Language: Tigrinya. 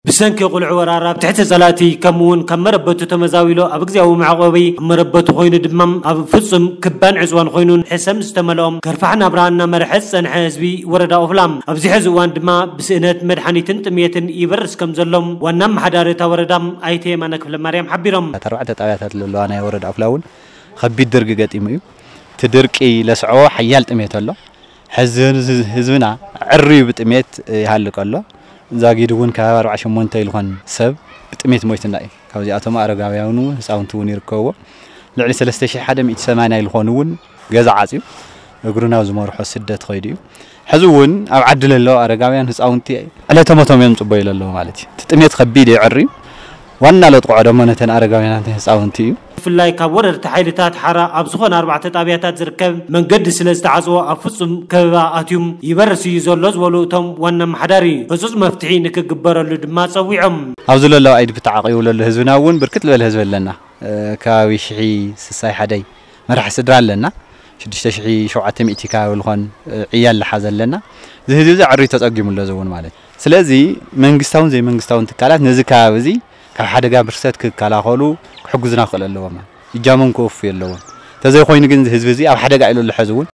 ብሰንኪ ቁልዑ ወራር ኣብ ትሕቲ ጸላእቲ ከምኡ እውን ካብ መረበቱ ተመዛዊሉ ኣብ እግዚኣብዊ መዕቆቢ ኣብ መረበቱ ኮይኑ ድማ ኣብ ፍጹም ክባን ዕጽዋን ኮይኑን ሕሰም ዝተመልኦም ከርፋሕ ናብራ እናመርሐ ዝጸንሐ ህዝቢ ወረዳ ኦፍላ ኣብዚ ሕዚ እዋን ድማ ብስእነት መድሓኒትን ጥሜትን ይበርስ ከም ዘሎም ዋና ኣመሓዳሪ እታ ወረዳ ኣይተ የማነ ክፍለ ማርያም ሓቢሮም። ኣርባዕተ ጣብያታት ዘለዋ ናይ ወረዳ ኦፍላ እውን ከቢድ ድርቂ ገጢሙ እዩ። እቲ ድርቂ ለስዕቦ ሓያል ጥሜት ኣሎ። ሕዚ ህዝብና ዕርዩ ብጥሜት ይሃልቅ ኣሎ። ዛጊድ እውን ከባቢ ኣርባዓ ሸሞንተ ይልኾን ሰብ ብጥሜት ሞይትና እዩ። ካብዚኣቶም ኣረጋውያን እውን ህፃውንቲ እውን ይርከብዎ። ልዕሊ ሰለስተ ሺሕ ሓደ ሚእቲ ሰማንያ ይልኾኑ እውን ገዛ ዓፅዩ እግሩ ናብ ዝመርሖ ስደት ኸይዱ እዩ። ሕዚ እውን ኣብ ዓዲ ለለዉ ኣረጋውያን ህፃውንቲ ዕለተ ሞቶም እዮም ፅበዩ ለለዉ ማለት እዩ። እቲ ጥሜት ከቢድ እዩ ዕርዩ። ዋና ለጥቕዖ ደሞ ነተን ኣረጋውያናትን ህፃውንቲ እዩ። ብፍላይ ካብ ወረርቲ ሓይልታት ሓራ ኣብ ዝኾነ ኣርባዕተ ጣብያታት ዝርከብ መንገዲ ስለ ዝተዓፅዎ ኣብ ፍፁም ከበባ ኣትዩም ይበርስ እዩ ዘሎ ዝበሉ እቶም ዋና ኣመሓዳሪ ህፁፅ መፍትሒ ንክግበረሉ ድማ ፀዊዖም። ኣብዚ ለለዉ ኣይዲ ብተዓቂቡ ለሎ ህዝብና እውን ብርክት ዝበለ ህዝቢ ኣለና። ከባቢ ሽሕ ስሳይ ሓደይ መራሕ ስድራ ኣለና። ሽዱሽተ ሽሕ ሸውዓተ ሚእቲ ከባቢ ዝኾን ዕያል ዝሓዘ ኣለና። እዚ ህዝቢ እዚ ዕርዩ ተፀጊሙ ኣሎ እዚ እውን ማለት እዩ። ስለዚ መንግስታውን ዘይመንግስታውን ትካላት ነዚ ከባቢ እዚ ካብ ሓደጋ ብርሰት ክከላኸሉ ክሕግዙና ክኽእል ኣለዎም። እጃሞም ክወፉ ኣለዎም። ተዘይኮይኑ ግን እዚ ህዝቢ እዚ ኣብ ሓደጋ ኢሉ ኣሎ ሕዚ እውን።